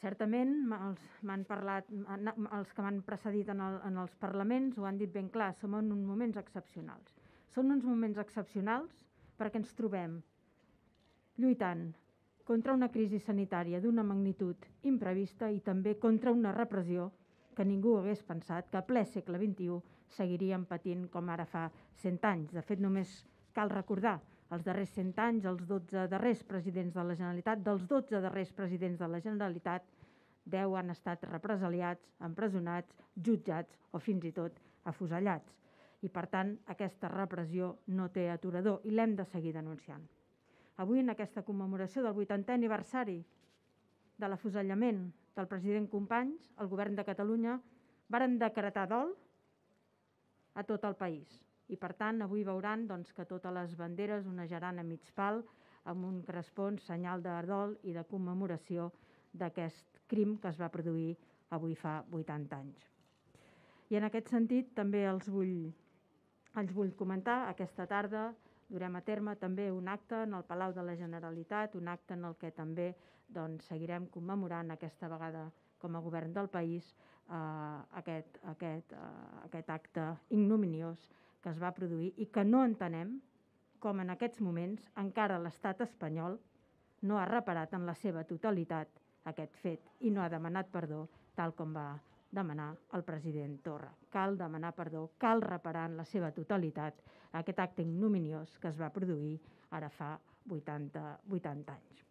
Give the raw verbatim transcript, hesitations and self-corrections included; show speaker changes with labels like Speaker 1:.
Speaker 1: Certament, m'han parlat, els que m'han precedit en, el, en els parlaments ho han dit ben clar, som en uns moments excepcionals. Són uns moments excepcionals perquè ens trobem lluitant contra una crisi sanitària d'una magnitud imprevista i també contra una repressió que ningú hagués pensat que a ple segle vint-i-u seguiríem patint com ara fa cent anys. De fet, només cal recordar els darrers cent anys, els dotze darrers presidents de la Generalitat, dels dotze darrers presidents de la Generalitat, deu han estat represaliats, empresonats, jutjats o fins i tot afusellats. I, per tant, aquesta repressió no té aturador i l'hem de seguir denunciant. Avui, en aquesta commemoració del vuitantè aniversari de l'afusellament del president Companys, el Govern de Catalunya varen decretar dol a tot el país. I, per tant, avui veuran doncs, que totes les banderes onejaran a mig pal amb un correspon senyal de dol i de commemoració d'aquest crim que es va produir avui fa vuitanta anys. I en aquest sentit també els vull, els vull comentar, aquesta tarda durem a terme també un acte en el Palau de la Generalitat, un acte en el que també doncs, seguirem commemorant aquesta vegada com a govern del país eh, aquest, aquest, eh, aquest acte ignominiós que es va produir i que no entenem com en aquests moments encara l'estat espanyol no ha reparat en la seva totalitat aquest fet i no ha demanat perdó tal com va demanar el president Torra. Cal demanar perdó, cal reparar en la seva totalitat aquest acte ignominiós que es va produir ara fa vuitanta, vuitanta anys.